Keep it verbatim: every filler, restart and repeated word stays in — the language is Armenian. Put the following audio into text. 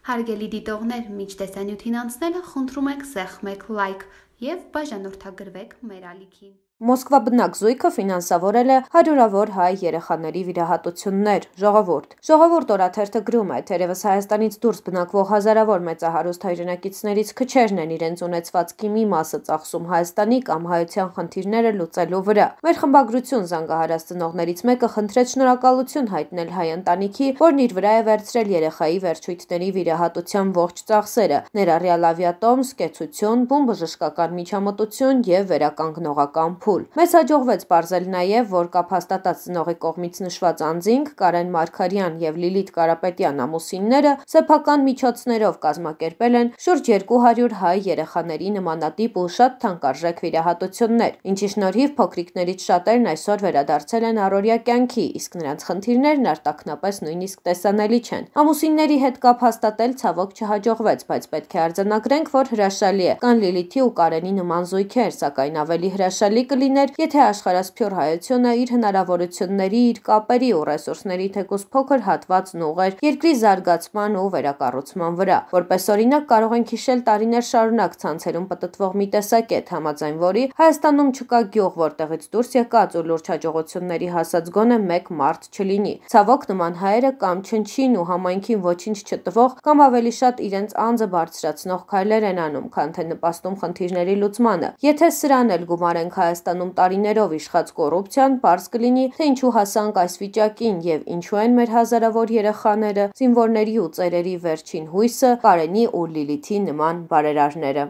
Հարգելի դիտողներ, մինչ տեսանյութին անցնելը խնդրում ենք սեղմեք լայք և բաժանորդագրվեք մեր ալիքին։ Մոսկվա բնակ զույգը ֆինանսավորել է հարյուրավոր հայ երեխաների վիրահատություններ։ Ժողովուրդ Ժողովուրդ օրաթերթը գրում է, թերևս Հայաստանից դուրս բնակվող հազարավոր մեծահարուստ հայրենակիցներից քչերն են իրենց ունեցվածքի մի մասը ծախսում Հայաստանի կամ հայության խնդիրները լուծելու վրա։ Մեր խմբագրություն զանգահարած ծնողներից մեկը խնդրեց շնորհակալություն հայտնել հայ ընտանիքի, որն իր վրա է վերցրել երեխայի վերջույթների վիրահատության ողջ ծախսերը, ներառյալ ավիատոմս, կեցություն, բումբժշկական միջամտություն և վերականգնողական փուլ։ Մեզ հաջողվեց պարզել նաև, որ կապ հաստատած ծնողի կողմից նշված անձինք Կարեն Մարգարյան և Լիլիթ Կարապետյան ամուսինները սեփական միջոցներով կազմակերպել են շուրջ երկու հարյուր հայ երեխաների նմանատիպ ու շատ թանկարժեք վիրահատություններ, ինչի շնորհիվ փոքրիկներից շատերն այսօր վերադարձել են առօրյա կյանքի, իսկ նրանց խնդիրներն արտաքնապես նույնիսկ տեսանելի չեն։ Ամուսինների հետ կապ հաստատել ցավոք չհաջողվեց, բայց պետք է արձանագրենք, որ հրաշալի է։ Կան Լիլիթի ու Կարենի նման զույգեր, սակայն ավելի հրաշալի կլիներ, եթե աշխարհասփյուռ հայությունը իր հնարավորությունների, իր կապերի ու ռեսուրսների թեկուզ փոքր հատվածն ուղղեր երկրի զարգացման ու վերակառուցման վրա։ Որպես օրինակ կարող ենք հիշել տարիներ շարունակ ցանցերում պտտվող մի տեսակետ, համաձայն որի Հայաստանում չկա գյուղ, որտեղից դուրս եկած ու լուրջ հաջողությունների հասած գոնե մեկ մարդ չլինի։ Ցավոք, նման հայերը կամ չնչին ու համայնքին ոչինչ չտվող, կամ ավելի շատ իրենց անձը բարձրացնող քայլեր են անում, քան թե նպաստում խնդիրների լուծմանը։ Եթե սրան էլ գումարենք Հայաստանում տարիներով իշխած կոռուպցիան, պարզ կլինի, թե ինչու հասանք այս վիճակին և ինչու են մեր հազարավոր երեխաները, զինվորների ու ծերերի վերջին հույսը, Կարենի ու Լիլիթի նման բարերարները։